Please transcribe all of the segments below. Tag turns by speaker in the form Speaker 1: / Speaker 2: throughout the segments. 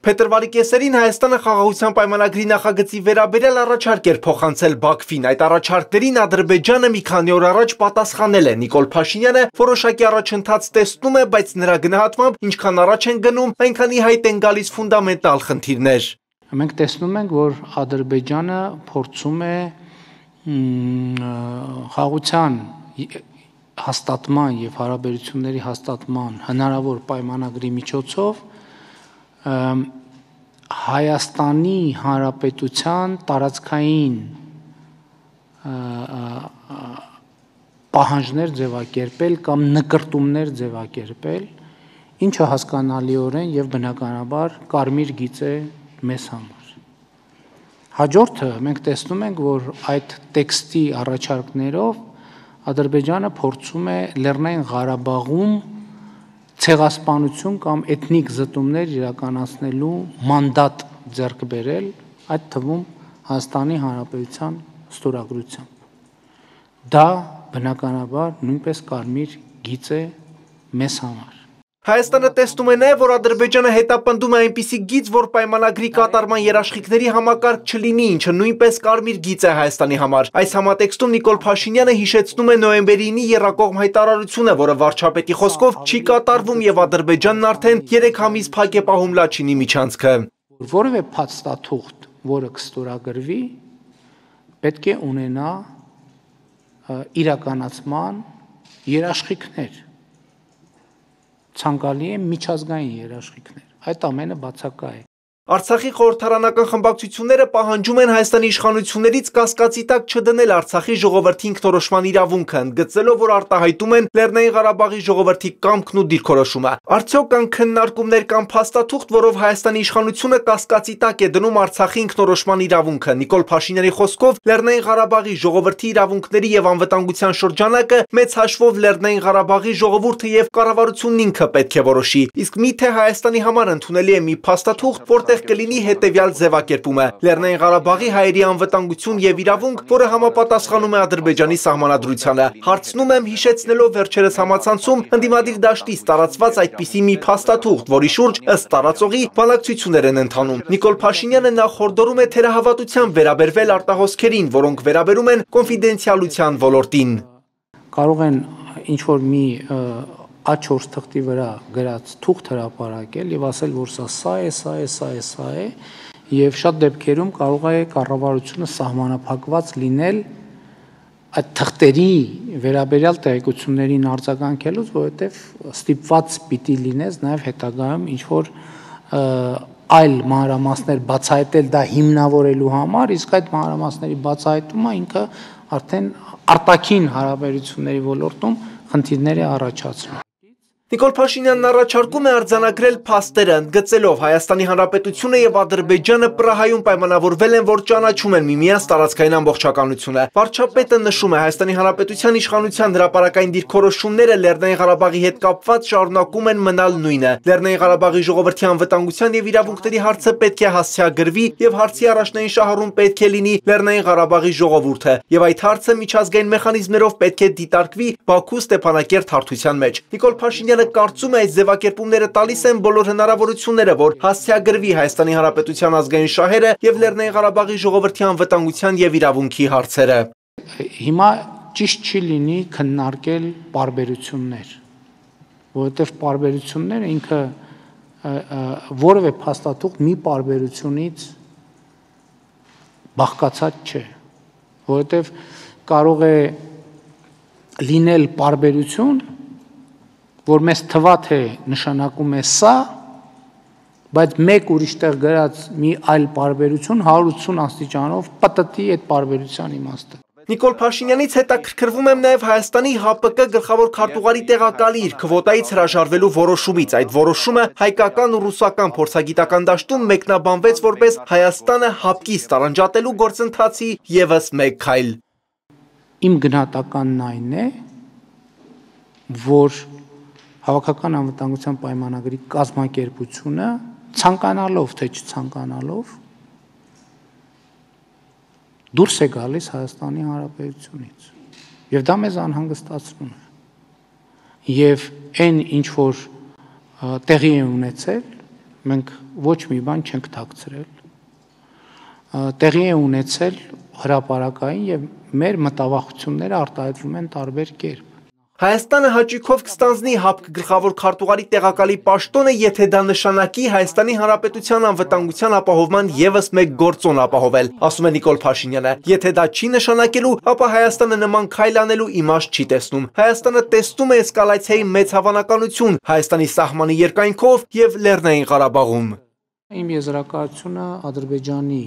Speaker 1: Փետրվարի կեսերին Հայաստանը խաղաղության պայմանագրի նախագծի վերաբերյալ առաջարկ էր փոխանցել Բաքվին։ Այդ առաջարկներին Ադրբեջանը մի քանի օր առաջ պատասխանել է։ Նիկոլ Փաշինյանը որոշակի առաջընթաց տեսնում է, բայց նրա գնահատմամբ ինչքան առաջ են գնում, այնքան ի հայտ են գալիս ֆունդամենտալ խնդիրներ։
Speaker 2: Մենք տեսնում ենք, որ Ադրբեջանը փորձում է խաղաղության հաստատման եւ հարաբերությունների հաստատման հնարավոր պայմանագրի միջոցով Հայաստանի Հանրապետության տարածքային պահանջներ ձևակերպել կամ նկրտումներ ձևակերպել, ինչը հասկանալիորեն եւ բնականաբար կարմիր գիծ է մեզ համար։ Հաջորդը մենք տեսնում ենք, որ այդ տեքստի առաջարկներով Ադրբեջանը փորձում է Լեռնային Ղարաբաղում ցեղասպանություն կամ էթնիկ զտումներ իրականացնելու մանդատ ձեռք բերել, այդ թվում Հայաստանի Հանրապետության ստորագրությամբ։ Դա բնականաբար նույնպես կարմիր գիծ է մեզ համար։
Speaker 1: Հայաստանը տեսնում է նաև, որ Ադրբեջանը հետապնդում է այնպիսի գիծ, որ պայմանագրի կատարման երաշխիքների համակարգ չլինի, ինչը նույնպես կարմիր գիծ է Հայաստանի համար։ Այս համատեքստում Նիկոլ Փաշինյանը հիշեցնում է նոյեմբերի 9-ի եռակողմ հայտարարությունը, որը վարչապետի խոսքով չի կատարվում եւ Ադրբեջանն արդեն 3 ամիս փակ է պահում Լաչինի միջանցքը։
Speaker 2: Որևէ փաստաթուղթ, որը կստորագրվի, պետք է ունենա իրականացման երաշխիքներ։ Ցանկալի է միջազգային երաշխիքներ, այդ ամենը բացակա է։
Speaker 1: Արցախի խորհրդարանական խմբակցությունները պահանջում են Հայաստանի իշխանություններից կասկածի տակ չդնել Արցախի ժողովրդի ինքնորոշման իրավունքը, ընդգծելով, որ արտահայտում են Լեռնային Ղարաբաղի ժողովրդի կամքն ու դիրքորոշումը։ Արդյոք կան քննարկումներ կամ փաստաթուղթ, որով Հայաստանի իշխանությունը կասկածի տակ է դնում Արցախի ինքնորոշման իրավունքը։ Նիկոլ Փաշինյանի խոսքով Լեռնային Ղարաբաղի ժողովրդի իրավունքների եւ անվտանգության շրջանակը մեծ հաշվով Լեռնային Ղարաբաղի ժողովուրդը եւ կառավարությունն ինքը պետք է որոշի։ Իսկ միթե Հայաստանի համար ընդունելի է մի փաստաթուղթ, որտեղ կլինի հետևյալ ձևակերպումը. Լեռնային Ղարաբաղի հայերի անվտանգություն եւ իրավունք, որը համապատասխանում է Ադրբեջանի սահմանադրությանը։ Հարցնում եմ, հիշեցնելով վերջերս համացանցում ընդդիմադիր դաշտից տարածված այդպիսի մի փաստաթուղթ, որի շուրջ ըստ տարածողի բանակցություններ են ընթանում։ Նիկոլ Փաշինյանը նախորդորում է թերահավատությամբ վերաբերվել արտահոսքերին, որոնք վերաբերում են կոնֆիդենցիալության ոլորտին։
Speaker 2: Կարող են ինչ-որ մի A4 թղթի վրա գրած թուղթ հրապարակել եւ ասել, որ սա է, եւ շատ դեպքերում կարող է կառավարությունը սահմանափակված լինել այդ թղթերի վերաբերյալ տեղեկություններին արձագանքելուց, որովհետեւ ստիպված պիտի լինես նաեւ հետագայում ինչ-որ այլ մանրամասներ բացահայտել դա հիմնավորելու համար, իսկ այդ մանրամասների բացահայտումը ինքը արդեն արտաքին հարաբերությունների ոլորտում խնդիրներ է առաջացնում։
Speaker 1: Նիկոլ Փաշինյանն առաջարկում է արձանագրել փաստերը, ընդգծելով Հայաստանի Հանրապետությունը եւ Ադրբեջանը Պրահայում պայմանավորվել են, որ ճանաչում են միմյանց տարածքային ամբողջականությունը։ Վարչապետը նշում է, Հայաստանի Հանրապետության իշխանության հրապարակային դիրքորոշումները Լեռնային Ղարաբաղի հետ կապված շարունակում են մնալ նույնը։ Լեռնային Ղարաբաղի ժողովրդի անվտանգության եւ իրավունքների հարցը պետք է հասցեագրվի եւ հարցի առաջնային շահառուն պետք է լինի Լեռնային Ղարաբաղի ժողովուրդը, եւ այդ հարցը միջազգային մեխանիզմներով պետք է դիտարկվի Բաքու Ստեփանակերտ հարթության մեջ։ Նիկոլ Փաշինյանը կարծում է, այս ձևակերպումները տալիս են բոլոր հնարավորությունները, որ հասցեագրվի Հայաստանի Հանրապետության ազգային շահերը եւ Լեռնային Ղարաբաղի ժողովրդի անվտանգության եւ իրավունքի հարցերը։
Speaker 2: Հիմա ճիշտ չի լինի քննարկել պարբերություններ, որովհետեւ պարբերությունները ինքը որևէ փաստաթուղթ մի պարբերությունից բաղկացած չէ, որովհետեւ կարող է լինել պարբերություն, որ մեզ թվա թե նշանակում է սա, բայց մեկ ուրիշ տեղ գրած մի այլ պարբերություն 180 աստիճանով պատտի այդ պարբերության իմաստը։
Speaker 1: Նիկոլ Փաշինյանից հետաքրքրվում եմ նաև Հայաստանի ՀԱՊԿ գլխավոր քարտուղարի տեղակալի իր քվոտայից հրաժարվելու որոշումից։ Այդ որոշումը հայկական ու ռուսական փորձագիտական դաշտում մեկնաբանվեց որպես Հայաստանը ՀԱՊԿ-ից տարանջատելու գործընթացի ևս մեկ քայլ։
Speaker 2: Իմ գնահատականն այն է, որ Հավաքական անվտանգության պայմանագրի կազմակերպությունը ցանկանալով թե չցանկանալով դուրս է գալիս Հայաստանի Հանրապետությունից եւ դա մեզ անհանգստացնում է եւ այն ինչ որ տեղի է ունեցել մենք ոչ մի բան չենք թաքցրել, տեղի է ունեցել հրապարակային եւ մեր մտավախությունները արտահայտվում են տարբեր կերպ։
Speaker 1: Հայաստանը հաճույքով կստանձնի ՀԱՊԿ գլխավոր քարտուղարի տեղակալի պաշտոնը, եթե դա նշանակի Հայաստանի Հանրապետության անվտանգության ապահովման ևս մեկ գործոն ապահովել, ասում է Նիկոլ Փաշինյանը։ Եթե դա չի նշանակելու, ապա Հայաստանը նման քայլ անելու իմաստ չի տեսնում։ Հայաստանը տեսնում է էսկալացիայի մեծ հավանականություն Հայաստանի սահմանի երկայնքով եւ Լեռնային Ղարաբաղում։
Speaker 2: Իմ եզրակացությունը Ադրբեջանի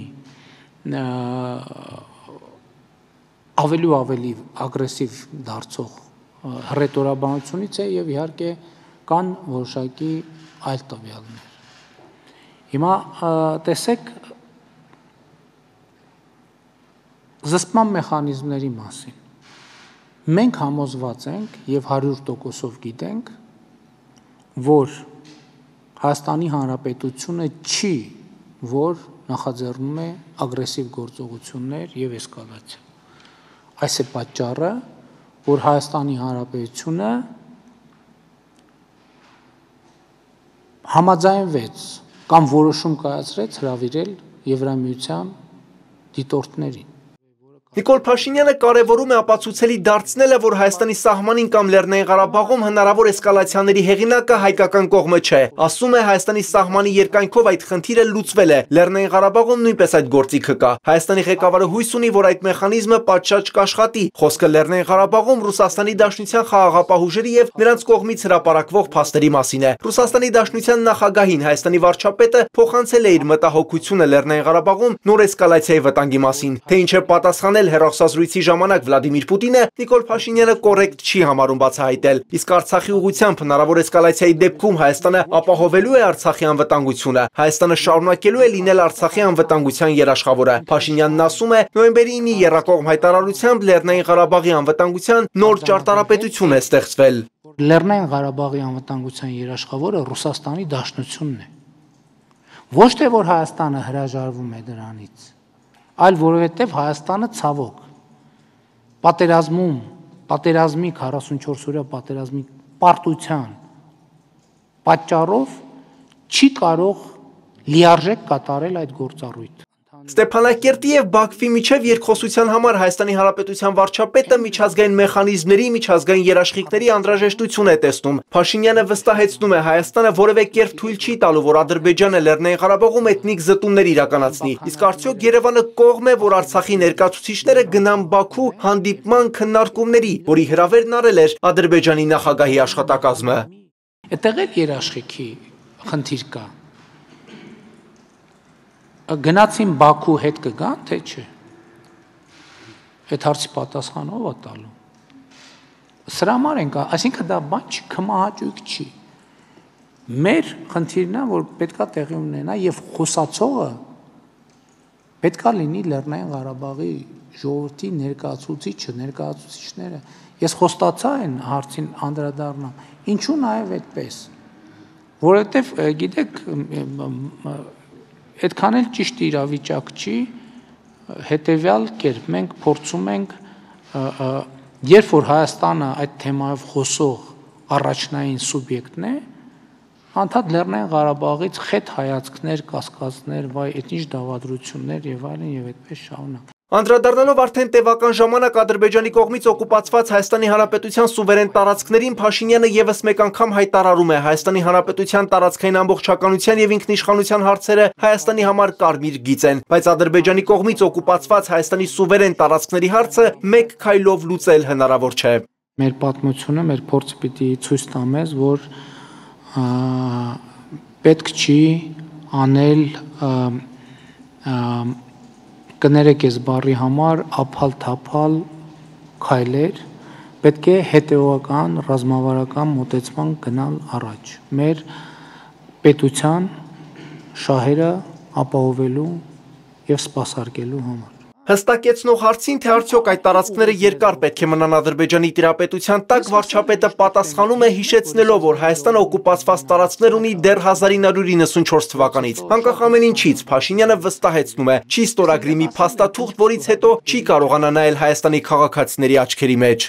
Speaker 2: ավելի ու ավելի ագրեսիվ դարձող հռետորաբանությունից է եւ իհարկե կան որոշակի այլ տվյալներ։ Հիմա տեսեք զսպման մեխանիզմների մասին։ Մենք համոզված ենք եւ 100%-ով գիտենք, որ Հայաստանի Հանրապետությունը չի, որ նախաձեռնում է ագրեսիվ գործողություններ եւ էսկալացիա։ Այս է պատճառը, որ Հայաստանի Հանրապետությունը համաձայնվեց կամ որոշում կայացրեց հրավիրել Եվրամիության դիտորդներին։
Speaker 1: Նիկոլ Փաշինյանը կարևորում է ապացուցելի դարձնելը, որ Հայաստանի սահմանին կամ Լեռնային Ղարաբաղում հնարավոր էսկալացիաների հեղինակը հայկական կողմը չէ։ Ասում է Հայաստանի սահմանի երկայնքով այդ խնդիրը լուծվել է։ Լեռնային Ղարաբաղում նույնպես այդ գործիքը կա։ Հայաստանի ղեկավարը հույս ունի, որ այդ մեխանիզմը պատշաճ կաշխատի։ Խոսքը Լեռնային Ղարաբաղում Ռուսաստանի Դաշնության խաղաղապահ ուժերի եւ նրանց կողմից հրապարակվող փաստերի մասին է։ Ռուսաստանի Դաշնության նախագահին Հայաստանի վարչապետը փոխանցել է իր մտահոգությունը Լեռնային Ղարաբաղում նոր էսկալացիայի վտանգի մասին, թե ինչ է պատասխանել հեռախոսազրույցի ժամանակ Վլադիմիր Պուտինը, Նիկոլ Փաշինյանը կոռեկտ չի համարում բացահայտել։ Իսկ Արցախի ուղղությամբ հնարավոր էսկալացիայի դեպքում Հայաստանը ապահովելու է Արցախի անվտանգությունը։ Հայաստանը շարունակելու է լինել Արցախի անվտանգության երաշխավորը։ Փաշինյանն ասում է, նոյեմբերի 9-ի Եռակողմ հայտարարությամբ Լեռնային Ղարաբաղի անվտանգության նոր ճարտարապետություն է ստեղծվել։
Speaker 2: Լեռնային Ղարաբաղի անվտանգության երաշխավորը Ռուսաստանի Դաշնությունն է։ Ոչ թե որ Հայաստանը հրաժարվում է դրանից, այլ որովհետև Հայաստանը ցավոք պատերազմի 44-օրյա պատերազմի պարտության պատճառով չի կարող լիարժեք կատարել այդ գործառույթը։
Speaker 1: Ստեփանակերտի եւ Բաքվի միջև երկխոսության համար Հայաստանի Հանրապետության վարչապետը միջազգային մեխանիզմների, միջազգային երաշխիքների անհրաժեշտություն է տեսնում։ Փաշինյանը վստահեցնում է, Հայաստանը որևէ կերպ թույլ չի տալու, որ Ադրբեջանը Լեռնային Ղարաբաղում էթնիկ զտումներ իրականացնի։ Իսկ արդյոք Երևանը կողմ է, որ Արցախի ներկայացուցիչները գնան Բաքու հանդիպման քննարկումների, որի հրավերն արել էր Ադրբեջանի նախագահի աշխատակազմը։
Speaker 2: Այդտեղ էլ երաշխիքի խնդիր կա։ Գնացին Բաքու հետ կգան, թե չէ։ Այդ հարցի պատասխանը ով է տալու։ Սրա համար ենք, այսինքն դա բան չի, քմահաճույք չի։ Մեր խնդիրն է, որ պետքա տեղի ունենա եւ խոսացողը պետքա լինի Լեռնային Ղարաբաղի ժողովրդի ներկայացուցիչները։ Ես խոստացա այն հարցին անդրադառնամ։ Ինչու նաեւ այդպես։ Որովհետեւ գիտեք, այդքան էլ ճիշտ իրավիճակ չի, հետևյալ կերպ մենք փորձում ենք, երբ որ Հայաստանը այդ թեմայով խոսող առաջնային սուբյեկտն է, անդադ Լեռնային Ղարաբաղից խետ հայացքներ, կասկածներ, վայ, այդ ինչ դավադրություններ եւ այլն եւ այդպես շարունակ։
Speaker 1: Անդրադառնալով արդեն տևական ժամանակ Ադրբեջանի կողմից օկուպացված Հայաստանի Հանրապետության սուվերեն տարածքներին, Փաշինյանը եւս մեկ անգամ հայտարարում է, Հայաստանի Հանրապետության տարածքային ամբողջականության եւ ինքնիշխանության հարցերը Հայաստանի համար կարմիր գիծ են, բայց Ադրբեջանի կողմից օկուպացված Հայաստանի սուվերեն տարածքների հարցը մեկ քայլով լուծել հնարավոր չէ։
Speaker 2: Մեր պատմությունը, մեր փորձը պիտի ցույց տա մեզ, որ պետք չի անել կներեք ես բառի համար ափալ-թափալ քայլեր, պետք է հետևողական, ռազմավարական մոտեցման գնալ առաջ։ Մեր պետության շահերը ապահովելու եւ սպասարկելու համար։
Speaker 1: Հստակեցնող հարցին, թե արդյոք այդ տարածքները երկար պետք է մնան Ադրբեջանի տիրապետության տակ, վարչապետը պատասխանում է հիշեցնելով, որ Հայաստանը օկուպացված տարածքներ ունի դեռ 1994 թվականից։ Անկախ ամեն ինչից, Փաշինյանը վստահեցնում է, չի ստորագրի մի փաստաթուղթ, որից հետո չի կարողանա նայել Հայաստանի քաղաքացիների աչքերի մեջ։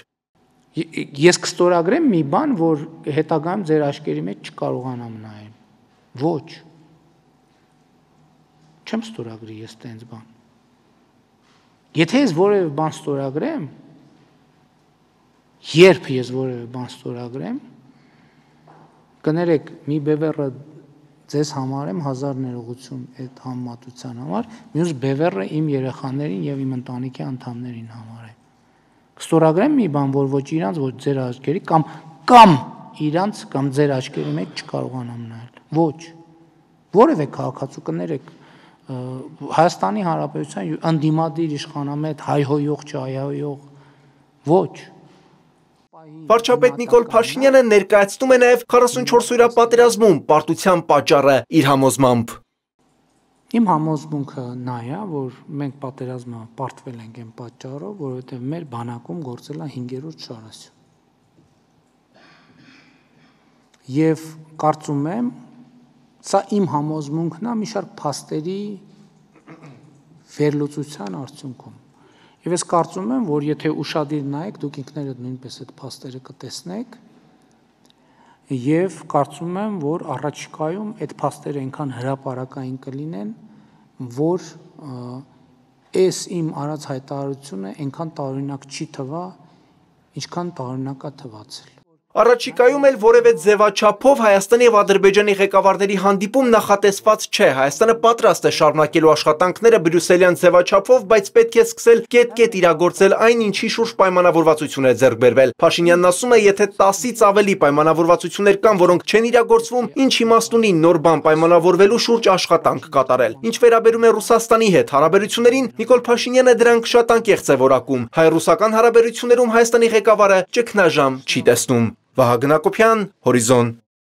Speaker 2: Ես կստորագրեմ մի բան, որ հետագայում ձեր աչքերի մեջ չկարողանամ նայել։ Ոչ։ չեմ ստորագրի ես տենց բան։ Եթե ես որևէ բան ստորագրեմ, երբ ես որևէ բան ստորագրեմ, կներեք, մի բևեռը ձեզ համարեմ 1000 ներողություն այդ համեմատության համար, մյուս բևեռը իմ երեխաներին եւ իմ ընտանիքի անդամներին համարեմ։ Կստորագրեմ մի բան, որ ոչ իրանց, ոչ ձեր աչքերի կամ իրանց կամ ձեր աչքերի մեջ չկարողանամ նայել։ Ոչ։ Որևէ քաղաքացու կներեք Հայաստանի Հանրապետության անդիմադիր իշխանամետ հայհոյող չհայհոյող ոչ։
Speaker 1: Վարչապետ Նիկոլ Փաշինյանը ներկայացնում է նաև 44-օրյա պատերազմում պարտության պատճառը իր համոզմամբ։
Speaker 2: Իմ համոզմունքը նա է, որ մենք պատերազմը պարտվել ենք այն պատճառով, որովհետև մեր բանակում գործել է 5-րդ շարասյուն։ Եվ կարծում եմ, սա իմ համոզմունքն է մի շարք փաստերի վերլուծության արդյունքում։ Եվ ես կարծում եմ, որ եթե ուշադիր նայեք, դուք ինքներդ նույնպես այդ փաստերը կտեսնեք, եւ կարծում եմ, որ առաջիկայում այդ փաստերը այնքան հրապարակային կլինեն, որ այս իմ արած հայտարարությունը այնքան տարօրինակ չի թվա, ինչքան տարօրինակ է թվացել։
Speaker 1: Առաջիկայում էլ որևէ ձևաչափով Հայաստանի եւ Ադրբեջանի ղեկավարների հանդիպում նախատեսված չէ։ Հայաստանը պատրաստ է շարունակելու աշխատանքները բրյուսելյան ձևաչափով, բայց պետք է սկսել կետ-կետ իրագործել այն, ինչի շուրջ պայմանավորվածություն է ձեռք բերվել։ Փաշինյանն ասում է, եթե 10-ից ավելի պայմանավորվածություններ կան, որոնք չեն իրագործվում, ինչ իմաստ ունի նոր բան պայմանավորվելու շուրջ աշխատանք կատարել։ Ինչ վերաբերում է Ռուսաստանի հետ հարաբերություններին, Նիկոլ Փաշինյանը դրանք շատ անկեղծ է որակում։ Հայ-ռուսական հարաբերություններում Հայաստանի ղեկավարը ճգնաժամ չի տեսնում։ Վահագն Հակոբյան, Հորիզոն։